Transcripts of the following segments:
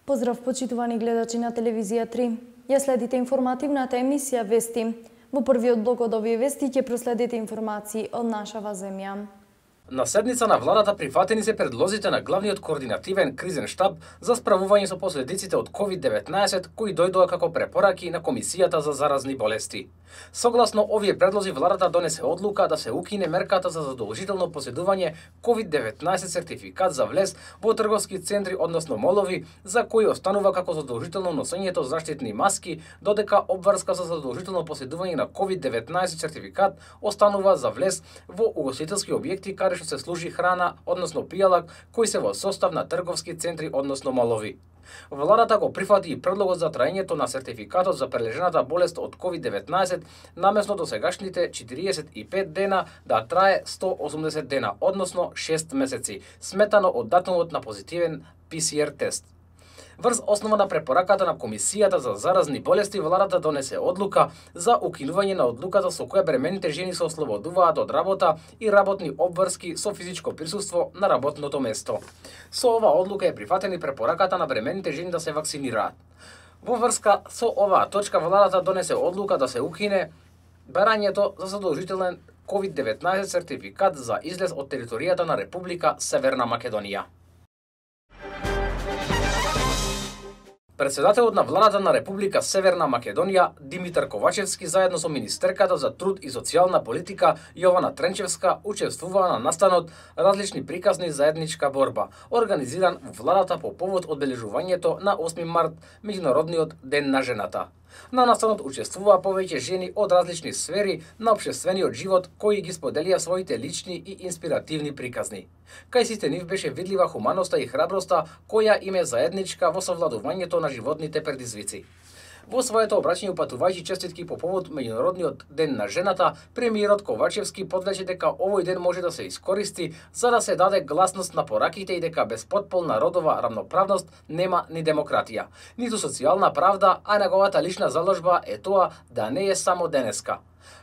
Поздрав, почитувани гледачи на телевизија 3. Ја следите информативната емисија Вести. Во првиот блок од овие вести ќе проследите информации од нашава земја. На седница на владата прифатени се предлозите на главниот координативен кризен штаб за справување со последиците од COVID-19 кои дојдоа како препораки на Комисијата за заразни болести. Согласно овие предлози, владата донесе одлука да се укине мерката за задолжително поседување COVID-19 сертификат за влез во трговски центри, односно молови, за кои останува како задолжително носењето заштитни маски, додека обврска за задолжително поседување на COVID-19 сертификат останува за влез во угостителски објекти каде што се служи храна, односно пијалак, кои се во состав на трговски центри, односно молови. Владата го прифати и предлогот за траењето на сертификатот за прележената болест од COVID-19 намесно до сегашните 45 дена да трае 180 дена, односно 6 месеци, сметано од датумот на позитивен PCR тест. Врз основа на препораката на Комисијата за заразни болести, владата донесе одлука за укинување на одлуката со која бремените жени се ослободуваат од работа и работни обврски со физичко присуство на работното место. Со ова одлука е прифатена и препораката на бремените жени да се вакцинираат. Во врска со оваа точка, владата донесе одлука да се укине барањето за задолжителен COVID-19 сертификат за излез од територијата на Република Северна Македонија. Председателот на владата на Република Северна Македонија Димитар Ковачевски заедно со министерката за труд и социјална политика Јована Тренчевска учествуваа на настанот различни приказни заедничка борба, организиран во владата по повод одбележувањето на 8 март, меѓународниот ден на жената. На настанот учествуваа повеќе жени од различни сфери на општествениот живот кои ги споделија своите лични и инспиративни приказни. Кај сите нив беше видлива хуманоста и храброста која им е заедничка во совладувањето на животните предизвици. Во своето обраќање упатувајќи честитки по повод меѓународниот ден на жената, премиерот Ковачевски подлече дека овој ден може да се искористи за да се даде гласност на пораките и дека без потполна родова рамноправност нема ни демократија, ниту социјална правда, а неговата лична заложба е тоа да не е само денеска.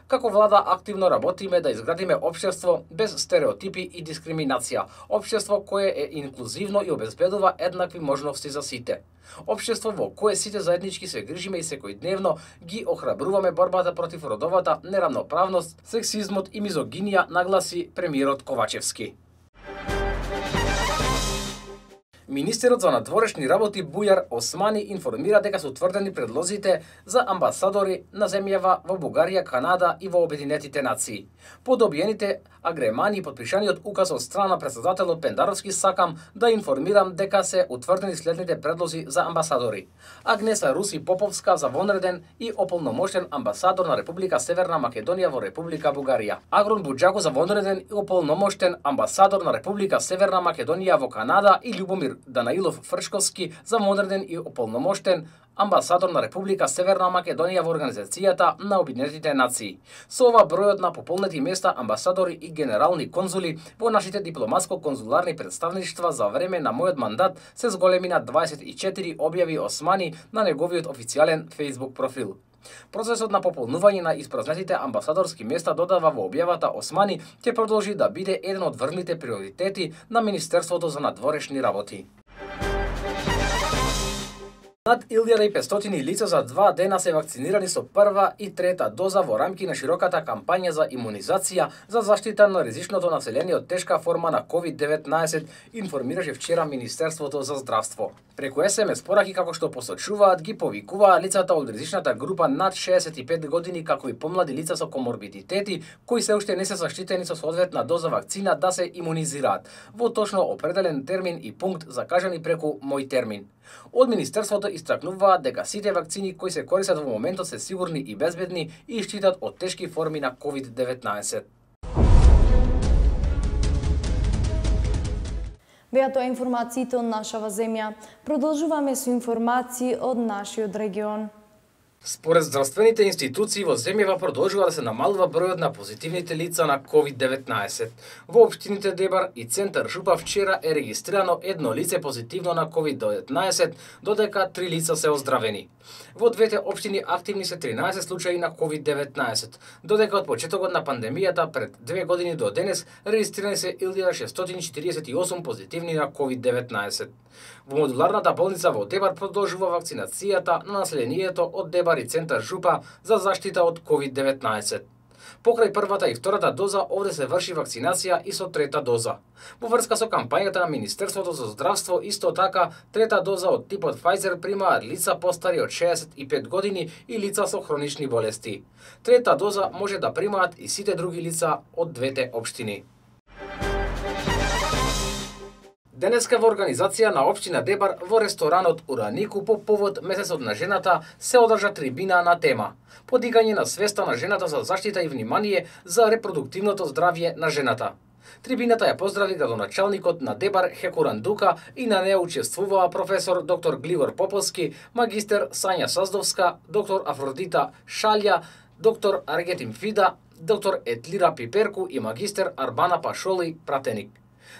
Како влада активно работиме да изградиме општество без стереотипи и дискриминација, општество кое е инклузивно и обезбедува еднакви можности за сите. Општество во кое сите заеднички се грижиме и секојдневно ги охрабруваме борбата против родовата неравноправност, сексизмот и мизогинија, нагласи премиерот Ковачевски. Министерот за надворешни работи Бујар Османи информира дека се утврдени предлозите за амбасадори на земјава во Бугарија, Канада и во Обединетите нации. По добиените агремани и подпишаниот указ од страна на председателот Пендаровски сакам да информирам дека се утврдени следните предлози за амбасадори. Агнеса Руси Поповска за вонреден и ополномоштен амбасадор на Република Северна Македонија во Република Бугарија. Агрон Буџако за вонреден и ополномоштен амбасадор на Република Северна Македонија во Канада и Љубомир Данаилов Фршковски за модерен и ополномоштен амбасадор на Република Северна Македонија во Организацијата на Обединетите нации. Со ова бројот на пополнети места амбасадори и генерални конзули во нашите дипломатско-конзуларни представништва за време на мојот мандат се зголеми на 24, објави Османи на неговиот официјален Facebook профил. Процесот на пополнување на испразнетите амбасадорски места, додава во објавата Османи, ќе продолжи да биде еден од врвните приоритети на Министерството за надворешни работи. Над 1500 лица за 2 дена се вакцинирани со прва и трета доза во рамки на широката кампања за имунизација за заштита на ризичното население од тешка форма на COVID-19, информираше вчера Министерството за здравство. Преку SMS пораки, како што посочуваат, ги повикуваа лицата од ризичната група над 65 години, како и помлади лица со коморбидитети, кои се уште не се заштитени со соодветна доза вакцина да се имунизираат, во точно определен термин и пункт закажани преку Мој термин. Од Министерството истакнуваат дека сите вакцини кои се користат во моментот се сигурни и безбедни и штитат од тешки форми на COVID-19. Беа тоа информациите од нашава земја. Продолжуваме со информации од нашиот регион. Според здравствените институции во земјава продолжува да се намалува бројот на позитивните лица на COVID-19. Во општините Дебар и Центар Жупа вчера е регистрирано едно лице позитивно на COVID-19, додека 3 лица се оздравени. Во двете општини активни се 13 случаи на COVID-19, додека од почетокот на пандемијата пред 2 години до денес регистрирани се 1648 позитивни на COVID-19. Во модуларната болница во Дебар продолжува вакцинацијата на населението од Дебар и центар Жупа за заштита од COVID-19. Покрај првата и втората доза, овде се врши вакцинација и со трета доза. Во врска со кампањата на Министерството за здравство, исто така, трета доза од типот Pfizer примаат лица постари од 65 години и лица со хронични болести. Трета доза може да примаат и сите други лица од двете општини. Денеска во организација на општина Дебар во ресторанот Уранику по повод месецот на жената се одржа трибина на тема подигање на свеста на жената за заштита и внимание за репродуктивното здравје на жената. Трибината ја поздрави градоначалникот на Дебар Хекуран Дука и на неа учествуваа професор доктор Глигор Поповски, магистер Сања Саздовска, доктор Афродита Шалја, доктор Аргетим Фида, доктор Етлира Пиперку и магистер Арбана Пашоли Пратеник.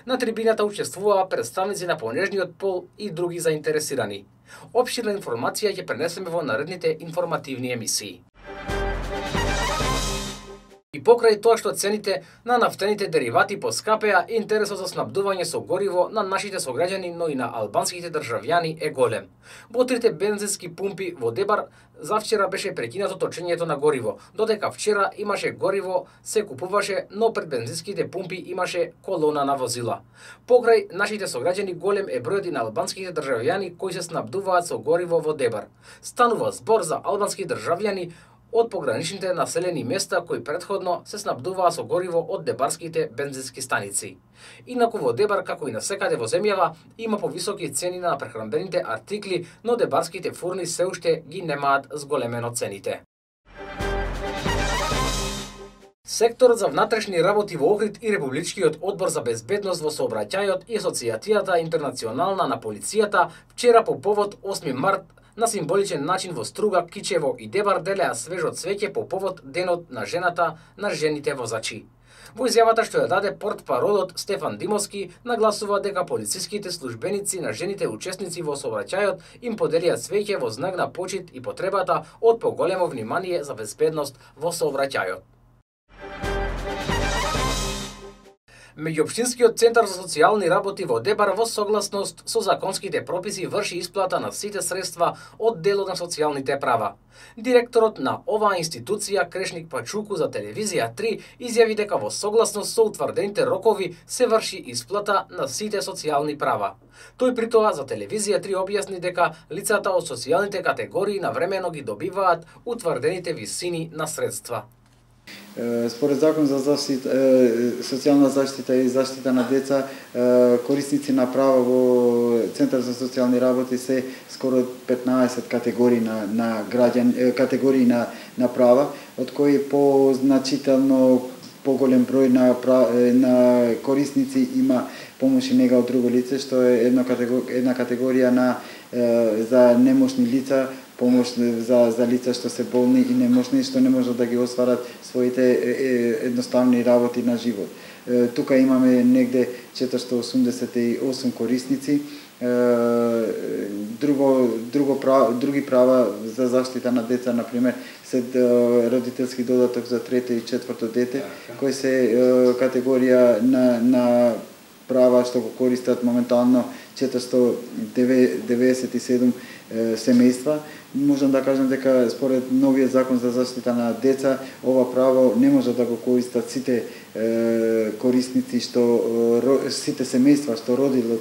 На трибината учествуваа представници на понежниот пол и други заинтересирани. Опширна информација ќе пренесеме во наредните информативни емисии. И покрај тоа што цените на нафтените деривати поскапеа, интересот за снабдување со гориво на нашите сограѓани, но и на албанските државјани е голем. Во трите бензински пумпи во Дебар завчера беше прекинато точењето на гориво, додека вчера имаше гориво, се купуваше, но пред бензинските пумпи имаше колона на возила. Покрај нашите сограѓани голем е бројот и на албанските државјани кои се снабдуваат со гориво во Дебар. Станува збор за албански државјани од пограничните населени места кои претходно се снабдуваа со гориво од дебарските бензински станици. Инаку во Дебар, како и насекаде во земјава, има повисоки цени на прехранбените артикли, но дебарските фурни се уште ги немаат зголемено цените. Секторот за внатрешни работи во Охрид и Републичкиот одбор за безбедност во сообраќајот и Асоцијацијата интернационална на полицијата вчера по повод 8 март на символичен начин во Струга, Кичево и Дебар делеа свежо цвеќе по повод Денот на жената на жените возачи. Во изјавата што ја даде портпаролот Стефан Димовски, нагласува дека полициските службеници на жените учесници во сообраќајот им поделија цвеќе во знак на почит и потребата од поголемо внимание за безбедност во сообраќајот. Меѓуопштинскиот центар за социјални работи во Дебар во согласност со законските прописи врши исплата на сите средства од делот на социјалните права. Директорот на оваа институција Крешник Пачуку за телевизија 3 изјави дека во согласност со утврдените рокови се врши исплата на сите социјални права. Тој при тоа за телевизија 3 објасни дека лицата од социјалните категории навремено ги добиваат утврдените висини на средства. Според закон за заштита, социјална заштита и заштита на деца, корисници на права во Центар за социјални работи се скоро 15 категории на граѓани, категории на права, од кои позначително поголем број на корисници има помош и нега од друго лице, што е една категорија за немошни лица, помош за лица што се болни и немошни, што не можат да ги остварат своите едноставни работи на живот. Тука имаме негде 488 корисници. Други права за заштита на деца, например, се родителски додаток за трето и четврто дете, кои се категорија на права што го користат моментално 497 семејства. Можам да кажам дека според новиот закон за заштита на деца, ова право не може да го користат сите корисници сите семејства што родиле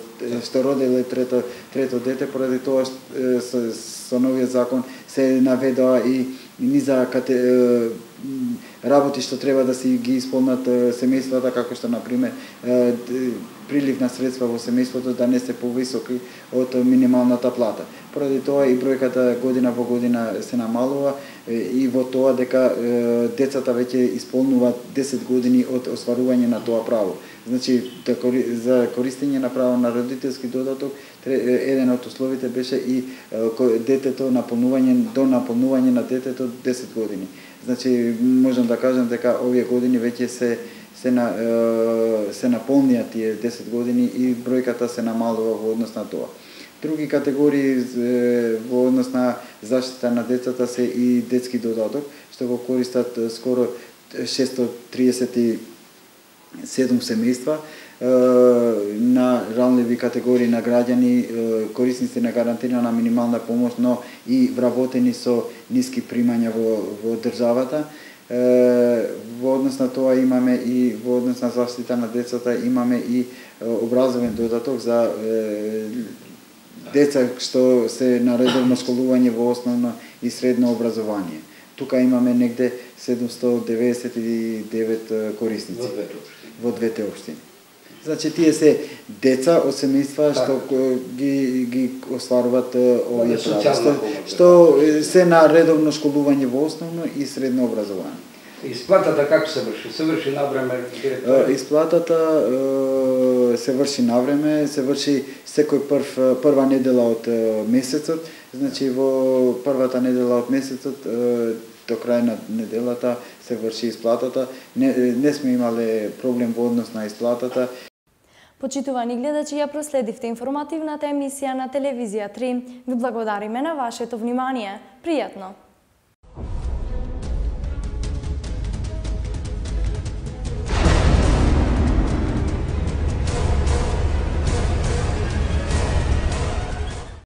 трето дете, поради тоа со новиот закон се наведоа и низа работи што треба да си ги исполнат семејствата, како што например прилив на средства во семејството да не се повисоки од минималната плата. Поради тоа и бројката година во година се намалува и во тоа дека децата веќе исполнуваат 10 години од остварување на тоа право. Значи, за користење на право на родителски додаток, еден од условите беше и детето до наполнување на детето 10 години. Значи, можам да кажам дека овие години веќе се наполнија тие 10 години и бројката се намалува во однос на тоа. Други категории во однос на заштита на децата се и детски додаток, што го користат скоро 637 семејства, на ранливи категории на граѓани, корисници на гарантирана минимална помош, но и вработени со ниски примања во државата. Во однос на тоа имаме и во однос на заштита на децата имаме и образовен додаток за деца што се на редовно школување во основно и средно образование. Тука имаме негде 799 корисници во двете општини. Значи тие се деца од семејства што ги остваруваат овие права, што се на редовно школување во основно и средно образование. Исплатата како се врши? Се врши навреме? Исплатата се врши навреме, се врши секој прва недела од месецот, значи во првата недела од месецот до крај на неделата се врши исплатата. Не сме имале проблем во однос на исплатата. Почитувани гледачи, ја проследивте информативната емисија на телевизија 3. Ви благодариме на вашето внимание. Пријатно!